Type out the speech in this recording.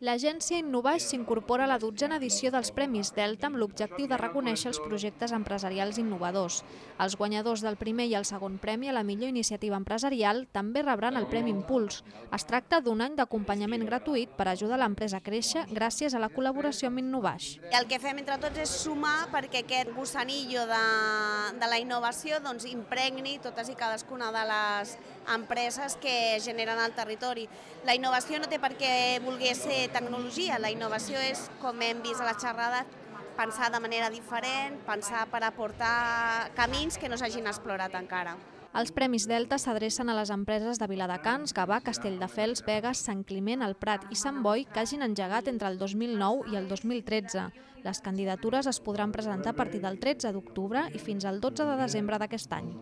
L'agència Innovaix s'incorpora a la 12a edició dels Premis Delta amb l'objectiu de reconèixer els projectes empresarials innovadors. Els guanyadors del primer i el segon premi a la millor iniciativa empresarial també rebran el Premi Impuls. Es tracta d'un any d'acompanyament gratuït per ajudar l'empresa a créixer gràcies a la col·laboració amb Innovaix. El que fem entre tots és sumar perquè aquest gossanillo de la innovació impregni totes i cadascuna de les empreses que generen al territori. La innovació no té per què voler ser tecnologia, la innovació és, com hem vist a la xerrada, pensar de manera diferent, pensar per aportar camins que no s'hagin explorat encara. Els Premis Delta s'adrecen a les empreses de Viladecans, Gavà, Castelldefels, Begues, Sant Climent, el Prat i Sant Boi que hagin engegat entre el 2009 i el 2013. Les candidatures es podran presentar a partir del 13 d'octubre i fins al 12 de desembre d'aquest any.